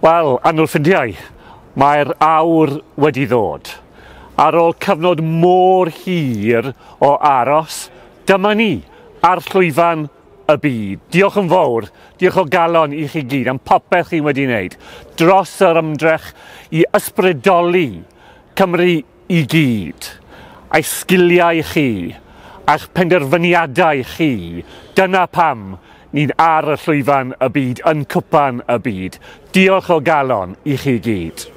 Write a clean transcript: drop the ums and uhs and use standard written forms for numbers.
Wel, annwyl ffrindiau, mae'r awr wedi ddod. Ar ôl cyfnod mor hir o aros, dyma ni ar llwyfan y byd. Diolch yn fawr, diolch o galon i chi gyd am popeth chi wedi wneud dros yr ymdrech i ysbrydoli Cymru i gyd. Eich sgiliau chi, a'ch penderfyniadau chi, dyna pam ni'n ar y llwyfan y byd, yn cwpan y byd. Diolch o galon i chi gyd.